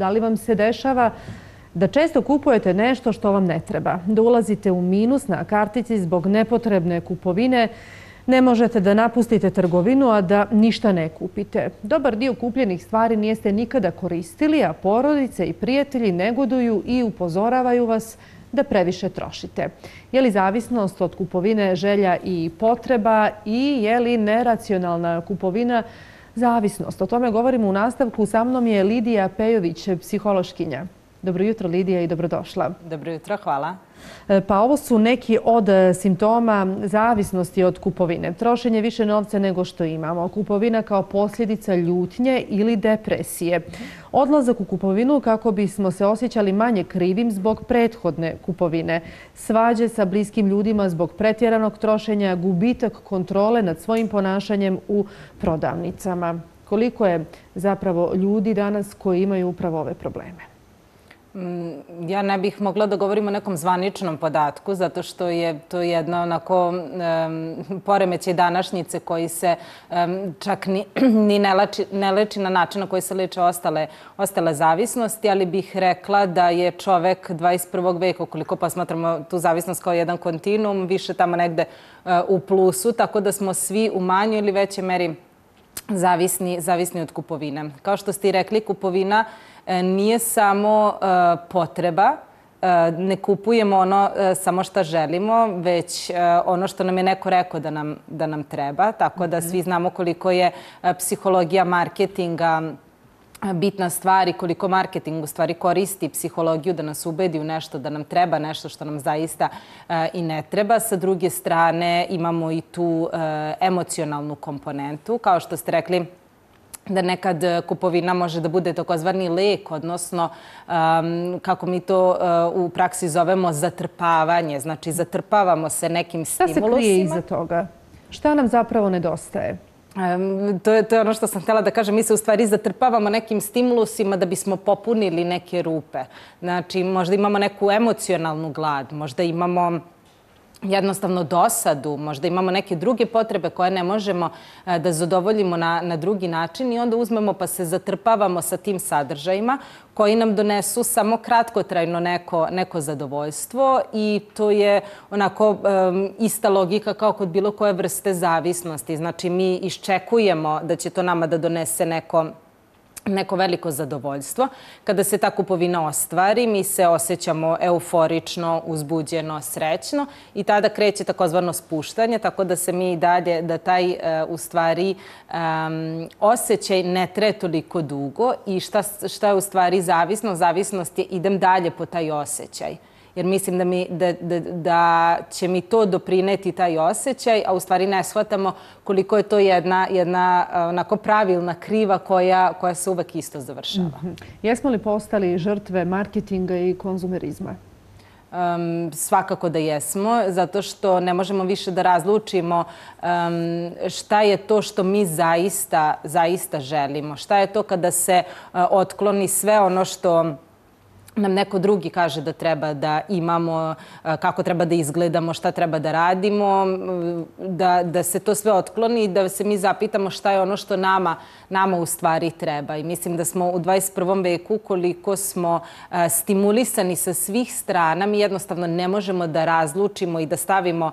Da li vam se dešava da često kupujete nešto što vam ne treba, da ulazite u minus na kartici zbog nepotrebne kupovine, ne možete da napustite trgovinu, a da ništa ne kupite. Dobar dio kupljenih stvari niste nikada koristili, a porodice i prijatelji negoduju i upozoravaju vas da previše trošite. Je li zavisnost od kupovine želja i potreba i je li neracionalna kupovina zavisnost? O tome govorimo u nastavku. Sa mnom je Lidija Pejović, psihološkinja. Dobro jutro, Lidija, i dobrodošla. Dobro jutro, hvala. Pa ovo su neki od simptoma zavisnosti od kupovine. Trošenje više novca nego što imamo. Kupovina kao posljedica ljutnje ili depresije. Odlazak u kupovinu kako bismo se osjećali manje krivim zbog prethodne kupovine. Svađe sa bliskim ljudima zbog pretjeranog trošenja, gubitak kontrole nad svojim ponašanjem u prodavnicama. Koliko je zapravo ljudi danas koji imaju upravo ove probleme? Ja ne bih mogla da govorim o nekom zvaničnom podatku, zato što je to jedna onako poremećaj današnjice koji se čak ni ne leči na način na koji se leče ostale zavisnosti, ali bih rekla da je čovek 21. veka, ukoliko posmatramo tu zavisnost kao jedan kontinuum, više tamo negde u plusu, tako da smo svi u manjoj ili većoj meri zavisni od kupovine. Kao što ste i rekli, kupovina nije samo potreba, ne kupujemo ono samo što želimo, već ono što nam je neko rekao da nam treba. Tako da svi znamo koliko je psihologija marketinga bitna stvar i koliko marketing u stvari koristi psihologiju da nas ubedi u nešto da nam treba, nešto što nam zaista i ne treba. Sa druge strane imamo i tu emocionalnu komponentu. Kao što ste rekli, da nekad kupovina može da bude takozvani lek, odnosno kako mi to u praksi zovemo zatrpavanje. Znači, zatrpavamo se nekim stimulusima. Šta se krije iza toga? Šta nam zapravo nedostaje? To je ono što sam htjela da kažem. Mi se u stvari zatrpavamo nekim stimulusima da bismo popunili neke rupe. Znači, možda imamo neku emocionalnu glad, možda imamo jednostavno dosadu, možda imamo neke druge potrebe koje ne možemo da zadovoljimo na drugi način i onda uzmemo pa se zatrpavamo sa tim sadržajima koji nam donesu samo kratkotrajno neko zadovoljstvo i to je onako ista logika kao kod bilo koje vrste zavisnosti. Znači, mi iščekujemo da će to nama da donese neko veliko zadovoljstvo. Kada se ta kupovina ostvari, mi se osjećamo euforično, uzbuđeno, srećno i tada kreće takozvano spuštanje, tako da se mi dalje, da taj u stvari osjećaj ne traje toliko dugo i šta je u stvari zavisnost? Zavisnost je idem dalje po taj osjećaj. Jer mislim da će mi to doprineti taj osjećaj, a u stvari ne shvatamo koliko je to jedna onako pravilna kriva koja se uvek isto završava. Jesmo li postali žrtve marketinga i konzumerizma? Svakako da jesmo, zato što ne možemo više da razlučimo šta je to što mi zaista želimo. Šta je to kada se otkloni sve ono što nam neko drugi kaže da treba da imamo, kako treba da izgledamo, šta treba da radimo, da se to sve otkloni i da se mi zapitamo šta je ono što nama u stvari treba. I mislim da smo u 21. veku, koliko smo stimulisani sa svih strana, mi jednostavno ne možemo da razlučimo i da stavimo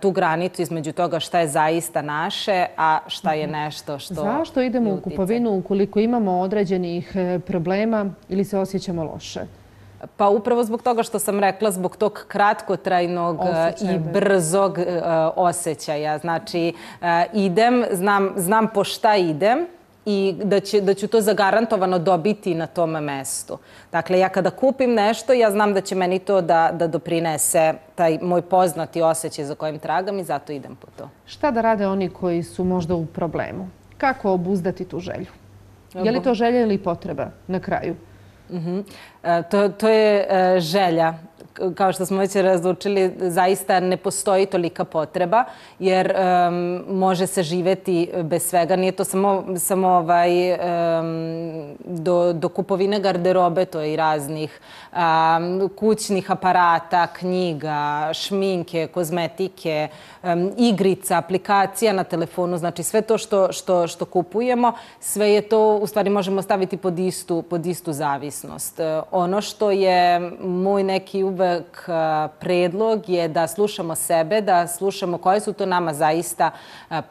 tu granicu između toga šta je zaista naše, a šta je nešto što... Zašto idemo u kupovinu ukoliko imamo određenih problema ili se osjećamo loše? Pa upravo zbog toga što sam rekla, zbog tog kratkotrajnog i brzog osjećaja. Znači, idem, znam po šta idem i da ću to zagarantovano dobiti na tom mestu. Dakle, ja kada kupim nešto, ja znam da će meni to da doprinese taj moj poznati osjećaj za kojim tragam i zato idem po to. Šta da rade oni koji su možda u problemu? Kako obuzdati tu želju? Je li to želja ili potreba na kraju? To je želja. kao što smo već razlučili, zaista ne postoji tolika potreba, jer može se živeti bez svega. Nije to samo do kupovine garderobe, to je i raznih kućnih aparata, knjiga, šminke, kozmetike, igrica, aplikacija na telefonu, znači sve to što kupujemo, sve je to, u stvari možemo staviti pod istu zavisnost. Ono što je moj neki uvek predlog je da slušamo sebe, da slušamo koje su to nama zaista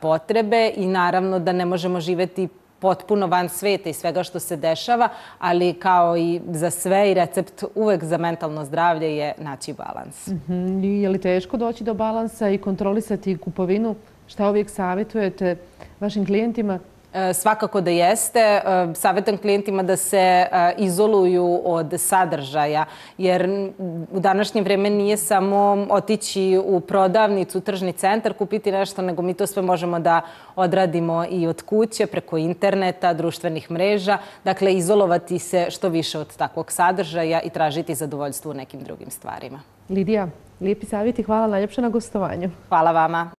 potrebe i naravno da ne možemo živeti potpuno van sveta i svega što se dešava, ali kao i za sve i recept uvek za mentalno zdravlje je naći balans. Je li teško doći do balansa i kontrolisati kupovinu? Šta uvijek savjetujete vašim klijentima? Svakako da jeste. Savjetujem klijentima da se izoluju od sadržaja, jer u današnje vrijeme nije samo otići u prodavnicu, tržni centar, kupiti nešto, nego mi to sve možemo da odradimo i od kuće, preko interneta, društvenih mreža. Dakle, izolovati se što više od takvog sadržaja i tražiti zadovoljstvo u nekim drugim stvarima. Lidija, lijepi savjeti, hvala najljepše na gostovanju. Hvala vama.